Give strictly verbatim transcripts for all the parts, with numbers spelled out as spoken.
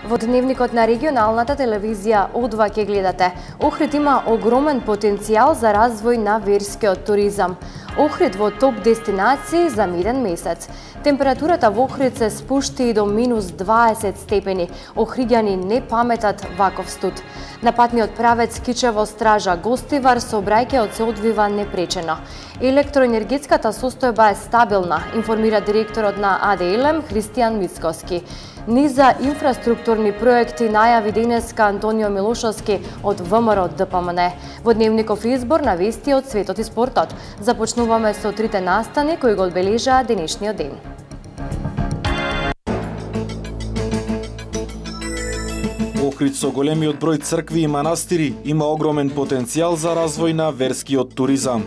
Во дневникот на регионалната телевизија О два ќе гледате. Охрид има огромен потенцијал за развој на верскиот туризам. Охрид во топ дестинации за меден месец. Температурата во Охрид се спушти и до минус дваесет степени. Охриѓани не паметат ваков студ. На патниот правец Кичево Стража Гостивар сообраќајот се одвива непречено. Електроенергетската состојба е стабилна, информира директорот на А Д Л М Христијан Мицкоски. Низа инфраструктурни проекти најави денеска Антонио Милошовски од В М Р Д П М Н. Во дневников избор на вести од светот и спортот. Започнуваме со трите настани кои го одбележаа денешниот ден. Охрид со големиот број цркви и манастири има огромен потенцијал за развој на верскиот туризам.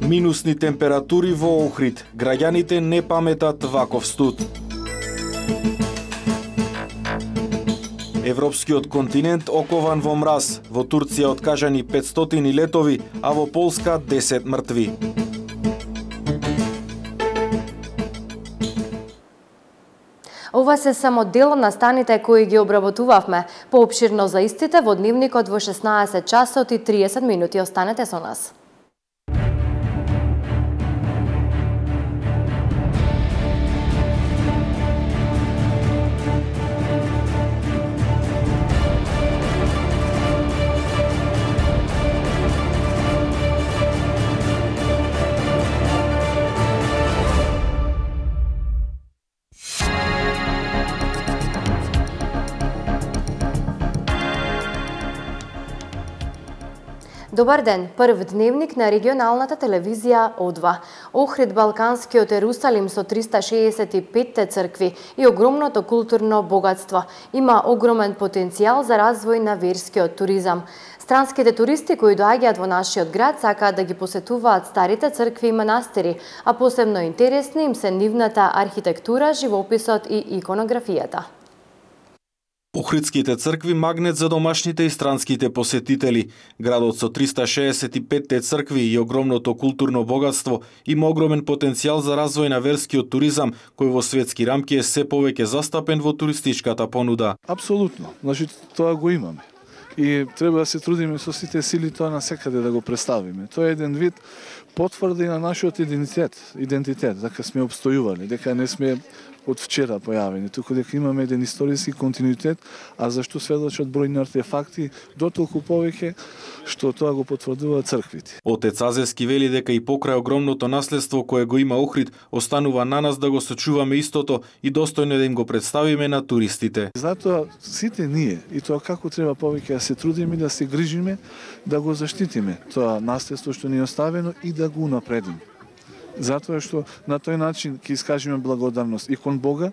Минусни температури во Охрид. Граѓаните не паметат ваков студ. Европскиот континент окован во мраз. Во Турција откажани петстотини летови, а во Полска десет мртви. Ова се само дел на станите кои ги обработувавме. Поопширно за истите во дневникот во шеснаесет часот и триесет минути. Останете со нас. Добар ден, прв дневник на регионалната телевизија О два. Охрид Балканскиот Ерусалим со триста шеесет и пет цркви и огромното културно богатство има огромен потенцијал за развој на верскиот туризам. Странските туристи кои доаѓаат во нашиот град сакаат да ги посетуваат старите цркви и манастири, а посебно интересни им се нивната архитектура, живописот и иконографијата. Охридските цркви магнет за домашните и странските посетители. Градот со триста шеесет и пет цркви и огромното културно богатство има огромен потенцијал за развој на верскиот туризам, кој во светски рамки е се повеќе застапен во туристичката понуда. Апсолутно. Значи тоа го имаме. И треба да се трудиме со сите сили тоа насекаде да го представиме. Тоа е еден вид потврда и на нашиот идентитет, идентитет, дека сме обстојували, дека не сме од вчера појавени, туку дека имаме еден историски континуитет, а зашто сведочат бројни артефакти, дотолку повеќе што тоа го потврдуваат црквите. Отец Азески вели дека и покрај огромното наследство кое го има Охрид, останува на нас да го сочуваме истото и достојно да им го представиме на туристите. Затоа сите ние и тоа како треба повеќе да се трудиме, да се грижиме, да го заштитиме тоа наследство што ни е оставено и да го напредиме. Затоа што на тој начин ќе искажеме благодарност и кон Бога,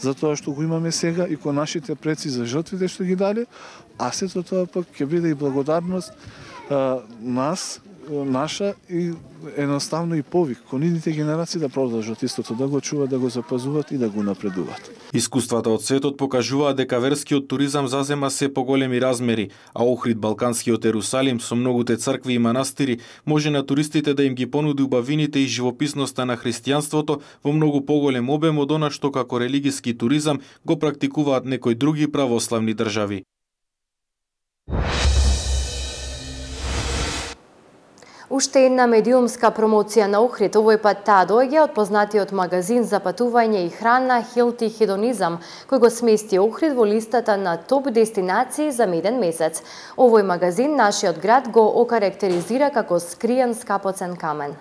затоа што го имаме сега и кон нашите предци за жртвите што ги дале, а сето тоа пак ќе биде и благодарност а, нас, наша и едноставно и повик кон идните генерации да продолжат истото, да го чуваат, да го запазуваат и да го напредуваат. Искуствата од светот покажуваат дека верскиот туризам зазема се поголеми размери, а Охрид Балканскиот Ерусалим со многуте цркви и манастири може на туристите да им ги понуди убавините и живописноста на христијанството во многу поголем обем од она што како религиски туризам го практикуваат некои други православни држави. Уште една медиумска промоција на Охрид, овој пат таа доаѓа од познатиот магазин за патување и храна Хелти Хедонизам, кој го смести Охрид во листата на топ дестинации за меден месец. Овој магазин нашиот град го окарактеризира како скриен скапоцен камен.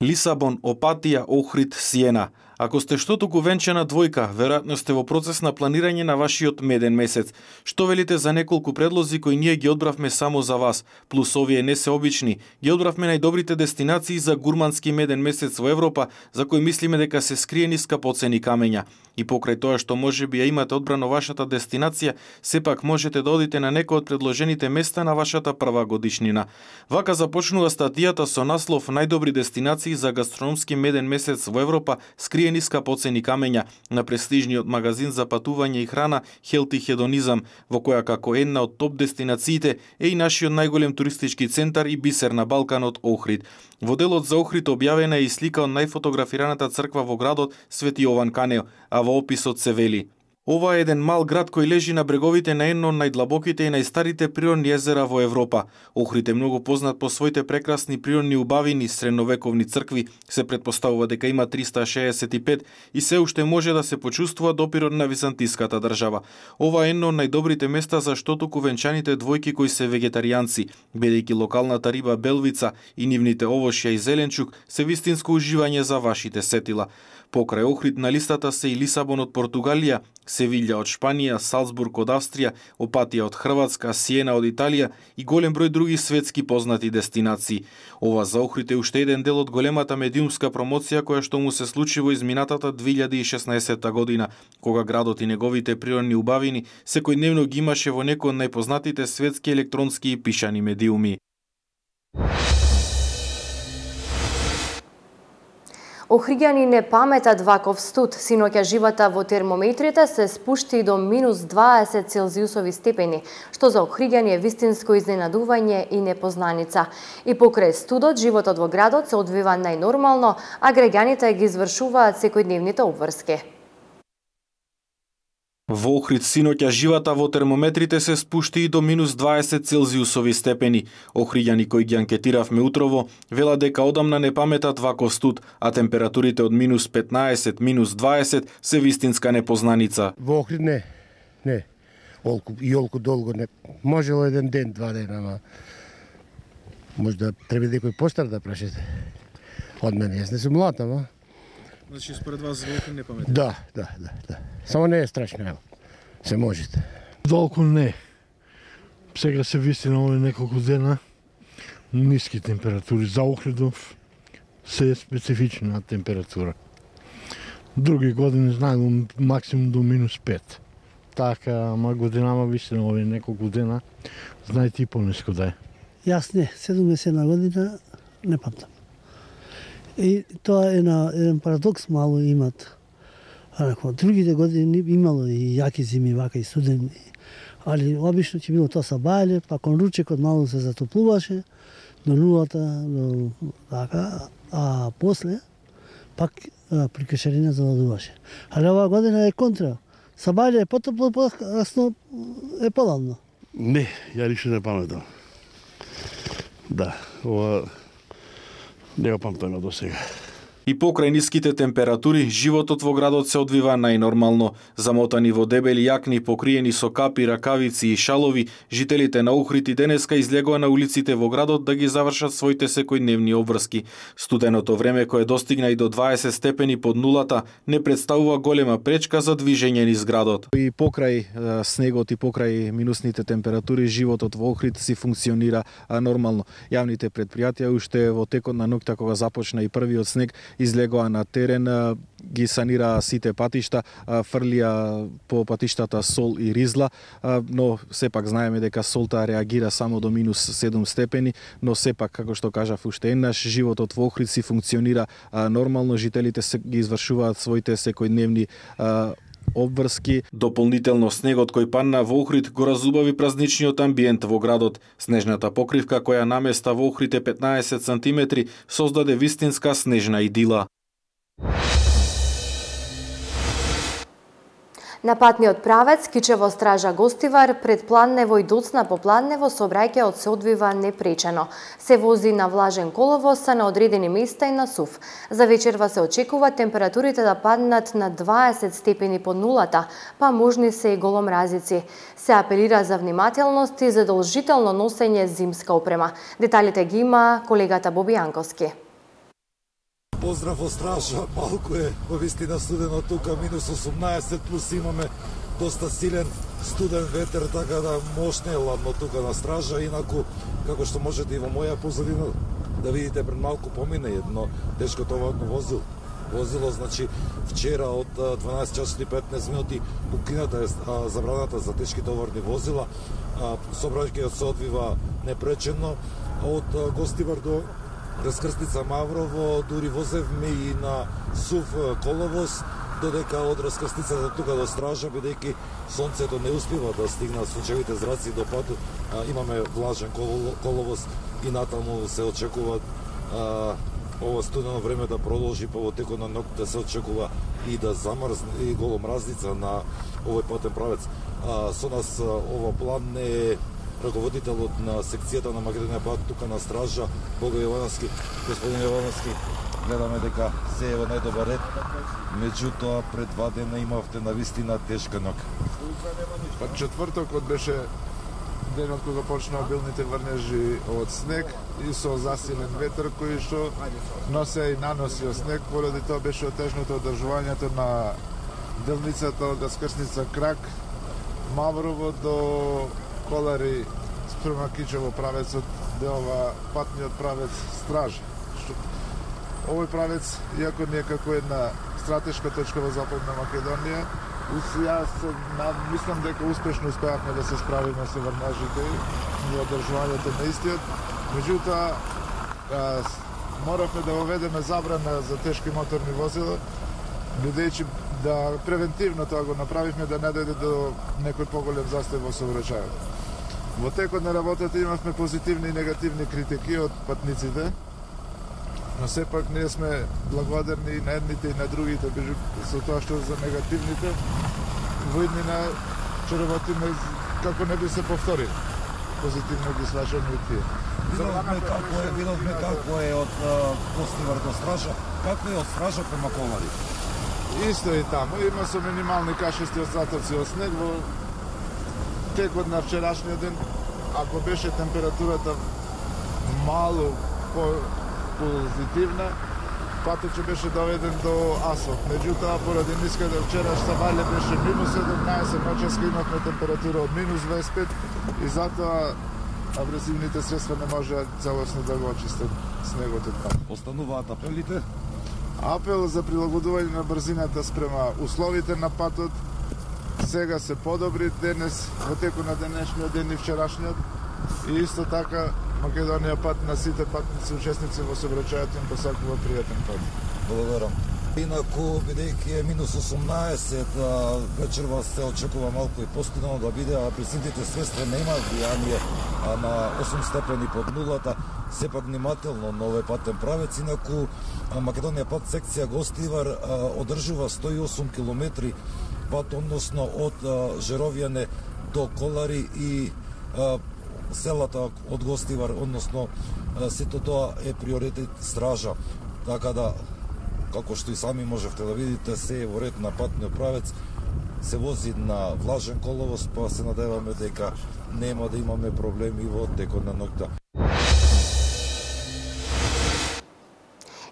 Лисабон, Опатија, Охрид, Сиена. Ако сте што туку венчана двојка, веројатно сте во процес на планирање на вашиот меден месец. Што велите за неколку предлози кои ние ги одбравме само за вас, плюс овие не се обични, ги одбравме најдобрите дестинации за гурмански меден месец во Европа, за кои мислиме дека се скриени скапоцени камења. И покрај тоа што можеби ја имате одбрано вашата дестинација, сепак можете да одите на некој од предложените места на вашата прва годишнина. Вака започнува статијата со наслов Најдобри дестинации за гастрономски меден месец во Европа, скриени скриени скапоцени камења на престижниот магазин за патување и храна Healthy Hedonizam, во која како една од топ дестинациите е и нашиот најголем туристички центар и бисер на Балканот Охрид. Во делот за Охрид објавена е и слика од најфотографираната црква во градот Свети Јован Канео, а во описот се вели: ова е еден мал град кој лежи на бреговите на едно од најдлабоките и најстарите природни езера во Европа. Охрид е многу познат по своите прекрасни природни убавини, средновековни цркви, се претпоставува дека има триста шеесет и пет и се уште може да се почувствува допирот на византиската држава. Ова е едно од најдобрите места за што туку венчаните двојки кои се вегетаријанци, бидејќи локалната риба белвица и нивните овошја и зеленчук се вистинско уживање за вашите сетила. Покрај Охрид на листата се и Лисабон од Португалија, Севилја од Шпанија, Салцбург од Австрија, Опатија од Хрватска, Сиена од Италија и голем број други светски познати дестинации. Ова за Охрид е уште еден дел од големата медиумска промоција која што му се случи во изминатата две илјади и шеснаесетта година, кога градот и неговите природни убавини секојдневно ги имаше во некој од најпознатите светски електронски и пишани медиуми. Охриѓани не паметат ваков студ. Синоќа живата во термометрите се спушти до минус дваесет целзиусови степени, што за охриѓани е вистинско изненадување и непознаница. И покрај студот, животот во градот се одвива најнормално, а граѓаните ги извршуваат секојдневните обврски. Во Охрид синоќа живата во термометрите се спушти и до минус дваесет целзиусови степени. Охриѓани кои ги анкетиравме утрово велат дека одамна не паметат ваков студ, а температурите од минус петнаесет, минус дваесет се вистинска непознаница. Во Охрид не, не. Олку и олку долго не. Можело еден ден, два дена, ама може да треба некој постар да прашете. Од мене, јас не сум млад, ама. Значи, според вас во Охрид не паметат? Да, да, да, да. Само не е страшно, ево. Се можете. Долку не. Сега се вистина овие неколку дена ниски температури. За Охридов се е специфична температура. Други години знаело максимум до минус пет. Така, ама годинама вистина овие неколку дена знаете и пониско да е. Јас не, седумдесетна година не памтам. И тоа е на еден парадокс мало имат. Ако другите години имало и јаки зими, вака и студени. Али обично ќе било тоа са бајле, па кон ручекот мало се затоплуваше до нулата, до така, а после пак при кешарина заладуваше. Али оваа година е контра. Са бајле е потопло, покрасно е поладно. Не, ја ништо не паметам. Да, ова не го памтам до сега. И покрај ниските температури, животот во градот се одвива најнормално. Замотани во дебели јакни, покриени со капи, ракавици и шалови, жителите на Охрид и денеска излегоа на улиците во градот да ги завршат своите секојдневни обврски. Студеното време кое достигна и до дваесет степени под нулата не представува голема пречка за движење низ градот. И покрај снегот и покрај минусните температури, животот во Охрид си функционира нормално. Јавните предпријатија уште во текот на ноќта кога започна и првиот снег излегоа на терен, ги санираа сите патишта, фрлија по патиштата сол и ризла, но сепак знаеме дека солта реагира само до минус седум степени, но сепак, како што кажав уште еднаш, животот во Охрид си функционира нормално, жителите ги извршуваат своите секојдневни обврски. Дополнително снегот кој падна во Охрид го разубави празничниот амбиент во градот. Снежната покривка која наместа во Охрид е петнаесет сантиметри создаде вистинска снежна идила. На патниот правец Кичево Стража Гостивар пред Планнево и доцна по Планнево сообраќајот се одвива непречено. Се вози на влажен коловоз на одредени места и на сув. За вечерва се очекува температурите да паднат на дваесет степени под нулата, па можни се и голомразици. Се апелира за внимателност и задолжително носење зимска опрема. Деталите ги има колегата Боби Јанковски. Поздрав од Стража, малку е во вистина студено тука, минус осумнаесет, плюс имаме доста силен студен ветер, така да мощно е ладно тука на Стража, инаку, како што можете и во моја позадина да видите, пред малку помине едно тешко товарно возило. Возило, значи, вчера од дванаесет часот и петнаесет минути укината е забраната за тешки товарни возила. Сообраќајот се одвива непречено од Гостивар до раскрстница Маврово, дури возевме и на сув коловоз, додека од раскрстницата тука до стража, бидејќи сонцето не успива да стигнат сончевите зраци до патот, имаме влажен коловоз и натаму се очекува а, ова студено време да продолжи, па во текот на ноќта се очекува и да замрзне и голомразница на овој патен правец. А, со нас ова план не е раководителот на секцијата на Македонија пат тука на стража, Бого Јовановски. Господин Јовановски, гледаме дека се е во најдобар ред, меѓутоа пред два дена имавте навистина тешка ноќ. Па четвртокот беше денот кога почнаа билните врнежи од снег и со засилен ветер кој што носе и наносио снег, поради тоа беше отежното одржувањето на делницата од раскрсница Крак, Маврово до Колари спрема Кичево правецот, делова патниот правец Стража. Овој правец, иако не е како една стратешка точка во Западна Македонија, јас мислам дека успешно успеавме да се справиме со врнежите и одржувањето на истиот. Меѓутоа, моравме да воведеме забрана за тешки моторни возила, бидејќи да превентивно тоа го направивме да не дојде до некој поголем застој во сообраќајот. Во текот на работата имавме позитивни и негативни критики од патниците, но сепак ние сме благодарни и на едните и на другите, со тоа што за негативните во иднина ќе работиме како не би се повторили. Позитивно ги сваќаме и тие. Видовме како е, видовме како е од Костивар до Стража, како е од Стража према Колари. Исто и таму, има со минимални кашести остатоци од снег во текот на вчерашниот ден. Ако беше температурата мало по позитивна, патот ќе беше доведен до асфалт. Меѓутоа, поради ниската вчерашна валја беше минус седумнаесет, ноќеска имавме температура од минус дваесет и пет и затоа абресивните средства не можеа целосно да го очистат снегот од таму. Остануваат апелите? Апел за прилагодување на брзината спрема условите на патот сега се подобри денес во текот на денешниот ден и вчерашниот и исто така Македонија пат на сите патници учесници во сообраќајот им посакува пријатен пат. Благодарам. Инаку, бидејќи е минус осумнаесет, вечерва се очекува малку и постудено да биде, а пресните средства не имаат влијание на осум степени под нулата, сепак внимателно на овој патен правец. Инаку, Македонија пат секција Гостивар одржува сто и осум километри пат, односно од Жеровјане до Колари и селата од Гостивар, односно сето тоа е приоритет Стража. Така да, како што и сами можевте да видите, се е во ред на патниот правец, се вози на влажен коловоз, па се надеваме дека нема да имаме проблеми во текот на ноќта.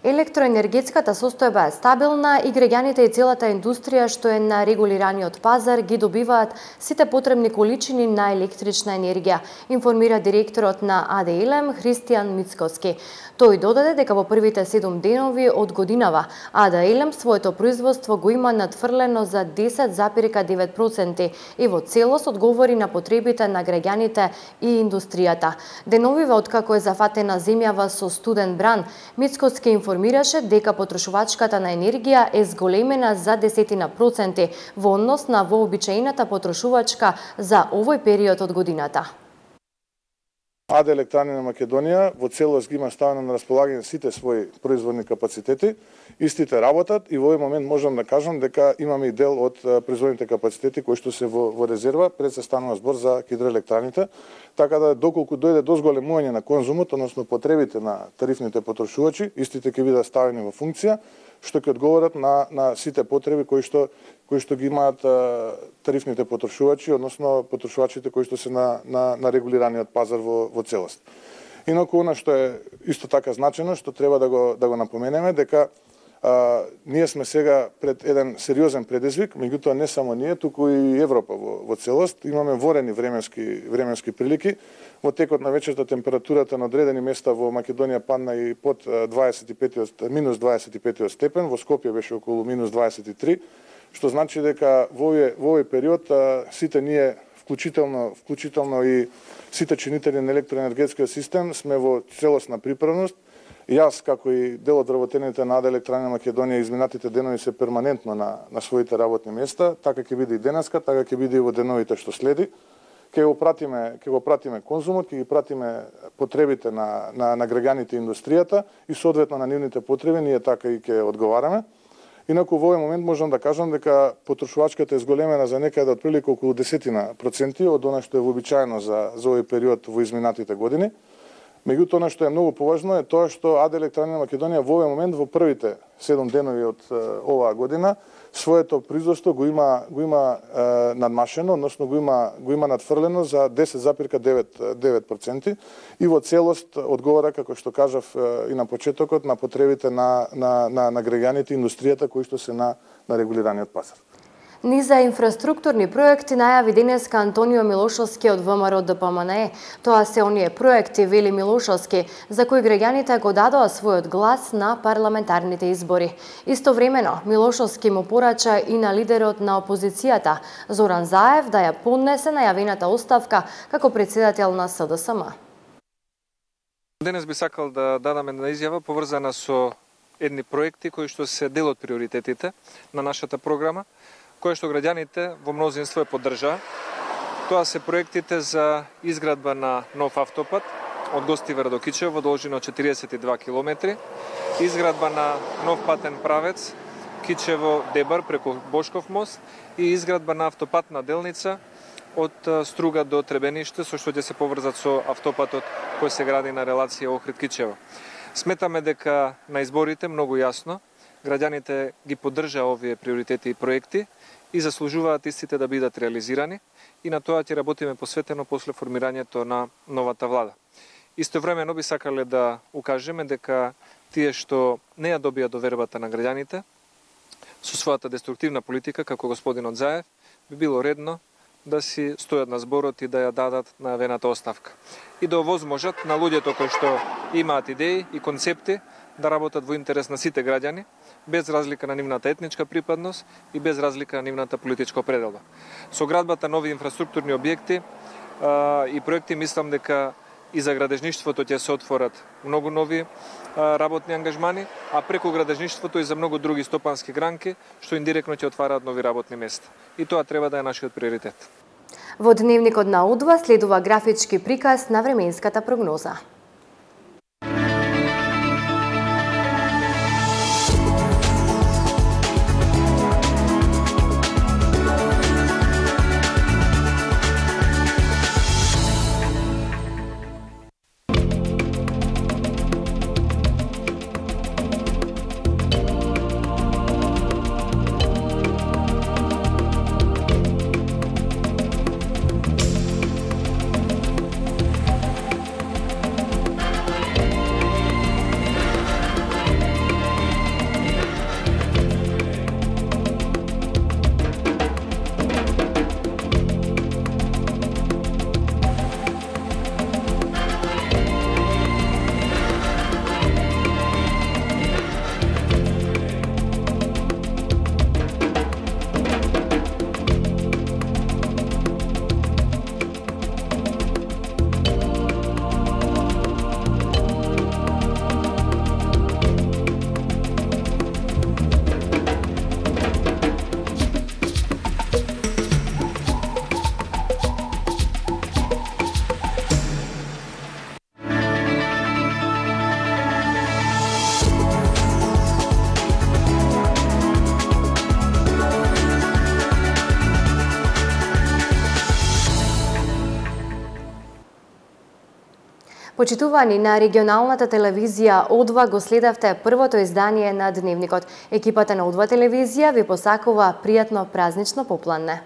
Електроенергетската состојба е стабилна и граѓаните и целата индустрија што е на регулираниот пазар ги добиваат сите потребни количини на електрична енергија, информира директорот на А Д Е Л М Христијан Мицкоски. Тој додаде дека во првите седум денови од годинава А Д Е Л М своето производство го има надфрлено за десет запирка девет проценти и во целост одговори на потребите на граѓаните и индустријата. Деновиве откако е зафатена земјава со студен бран, Мицкоски информираше дека потрошувачката на енергија е зголемена за десетина проценти во однос на вообичаената потрошувачка за овој период од годината. А Д Електрани на Македонија во целост ги има ставено на располагање сите своји производни капацитети, истите работат и во овој момент можам да кажам дека имаме и дел од производните капацитети кои што се во, во резерва пред се станува збор за хидроелектраните, така да доколку дојде до зголемување на конзумот, односно потребите на тарифните потрошувачи, истите ќе бидат ставени во функција, што ќе одговорат на, на сите потреби кои што кои што ги имаат а, тарифните потрошувачи, односно потрошувачите кои што се на, на, на регулираниот пазар во, во целост. Инаку, она што е исто така значено, што треба да го, да го напоменеме, дека а, ние сме сега пред еден сериозен предизвик, меѓутоа не само ние, туку и Европа во, во целост. Имаме ворени временски, временски прилики. Во текот на вечерта температурата на одредени места во Македонија падна и под дваесет и пет, минус дваесет и пет степен, во Скопје беше околу минус дваесет и три, што значи дека во овој, во овој период а, сите ние, вклучително, вклучително и сите чинители на електроенергетскиот систем, сме во целосна приправност Јас, како и дел од вработените на АД Електранија Македонија, изминатите денови се перманентно на, на своите работни места, така ќе биде и денеска, така ќе биде и во деновите што следи. Ќе го пратиме, ќе го пратиме конзумот, ќе ги пратиме потребите на, на, на граѓаните и индустријата и соодветно на нивните потреби, ние така и ќе одговараме. Инаку во овој момент можам да кажам дека потрошувачката е зголемена за некаде од прилика околу десетина проценти од она што е вообичаено за, за овој период во изминатите години. Меѓутоа, она што е многу поважно е тоа што АД Електранија Македонија во овој момент во првите седум денови од е, оваа година своето производство го има го има е, надмашено, односно го има го има надфрлено за десет запир девет проценти и во целост одговара, како што кажав е, и на почетокот, на потребите на на на, на граѓаните и индустријата кои што се на на регулираниот пазар. Низ за инфраструктурни проекти најави денеска Антонио Милошовски од ВМРО Д П М Н Е. Тоа се оние проекти, вели Милошовски, за кои граѓаните го дадоа својот глас на парламентарните избори. Истовремено, Милошовски му порача и на лидерот на опозицијата, Зоран Заев, да ја поднесе најавената оставка како председател на С Д С М. Денес би сакал да дадам една изјава поврзана со едни проекти кои што се дел од приоритетите на нашата програма, кои што граѓаните во мнозинство е поддржаа. Тоа се проектите за изградба на нов автопат од Гостивар до Кичево во должина од четириесет и два километри, изградба на нов патен правец Кичево-Дебар преку Бошков мост и изградба на автопатна делница од Струга до Требениште, со што ќе се поврзат со автопатот кој се гради на релација Охрид-Кичево. Сметаме дека на изборите многу јасно граѓаните ги поддржаа овие приоритети и проекти и заслужуваат истите да бидат реализирани и на тоа ќе работиме посветено после формирањето на новата влада. Истовремено би сакале да укажеме дека тие што не ја добија довербата на граѓаните со својата деструктивна политика, како господинот Заев, би било редно да си стојат на зборот и да ја дадат најавената оставка. И да овозможат на луѓето кои што имаат идеи и концепти да работат во интерес на сите граѓани, без разлика на нивната етничка припадност и без разлика на нивната политичка определба. Со градбата нови инфраструктурни објекти а, и проекти мислам дека и за градежништвото ќе се отворат многу нови а, работни ангажмани, а преку градежништвото и за многу други стопански гранки, што индиректно ќе отвараат нови работни места. И тоа треба да е нашиот приоритет. Во дневникот на Удва следува графички приказ на временската прогноза. Почитувани, на регионалната телевизија Одва го следавте првото издание на Дневникот. Екипата на Одва телевизија ви посакува пријатно празнично попладне.